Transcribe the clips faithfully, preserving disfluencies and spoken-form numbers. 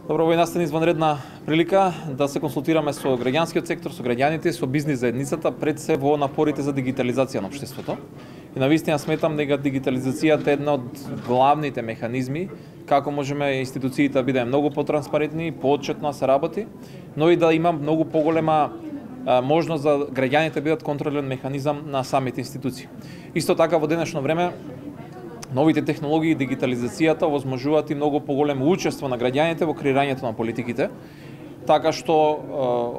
Добро, во настани изванредна прилика да се консултираме со граѓанскиот сектор, со граѓаните, со бизнис заедницата, пред се во напорите за дигитализација на општеството. И навистина сметам дека дигитализацијата е една од главните механизми како можеме институциите да бидеме многу потранспарентни, поотчетно се работи, но и да има многу поголема а, можност за граѓаните да бидат контролен механизам на самите институции. Исто така во денешно време новите технологии и дигитализацијата возможуваат и многу поголемо учество на граѓаните во креирањето на политиките, така што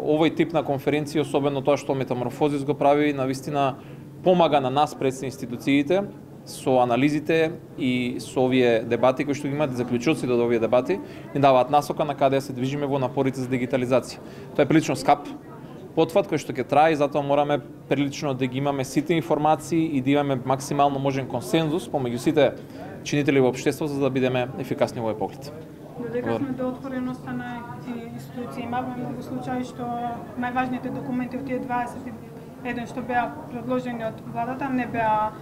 овој тип на конференција, особено тоа што Метаморфозис го прави, навистина помага на нас пред институциите со анализите и со овие дебати кои што ги имаат заклучоците од овие дебати, ни даваат насока на каде се движиме во напорите за дигитализација. Тоа е прилично скап потфат кој што ќе трае, и затоа мораме прилично да ги имаме сите информации и да имаме максимално можен консензус помеѓу сите чинители во општеството за да бидеме ефикасни во овој поглед. Додека сме до отвореноста на институции, имаме многу случаи што најважните документи од тие дваесет и еден што беа предложени од владата не беа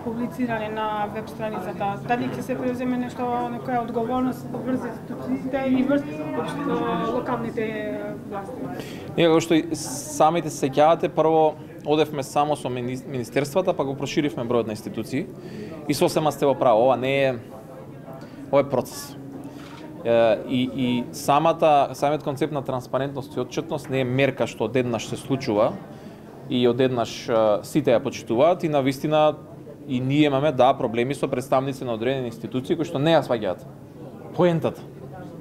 публицирани на веб страницата. Дали ќе се преземе нешто, некоја одговорност врз институциите и врз локалните власти? Ние, како што и самите се сеќавате, прво одевме само со министерствата, па го проширивме бројот на институции и сосема сте во право, ова не е ова е процес. И, и самата, самиот концепт на транспарентност и отчетност не е мерка што одеднаш се случува и одеднаш сите ја почитуваат и навистина и ние имаме да проблеми со представници на одредени институции кои што не ја сваѓаат поентата.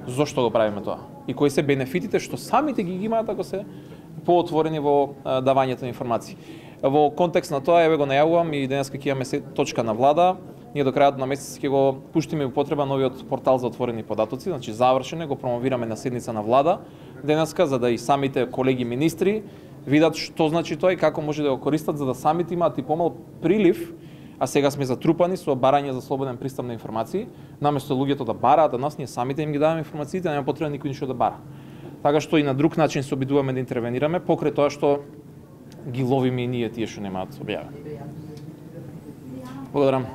Зошто го правиме тоа? И кои се бенефитите што самите ги имаат ако се поотворени во давањето на информации. Во контекст на тоа, еве го најавувам и денеска ќе имаме точка на влада. Ние до крајот на месец ќе го пуштиме во употреба новиот портал за отворени податоци, значи завршен е, го промовираме на седница на влада денеска за да и самите колеги министри видат што значи тоа и како може да го користат за да самите имаат и помал прилив, а сега сме затрупани со барање за слободен пристап на информации, наместо луѓето да бараат, а нас ние самите им ги даваме информациите, нема потреба никој ништо да бара. Така што и на друг начин се обидуваме да интервенираме, покрај тоа што ги ловиме и ние тие што немаат објавено. Благодарам.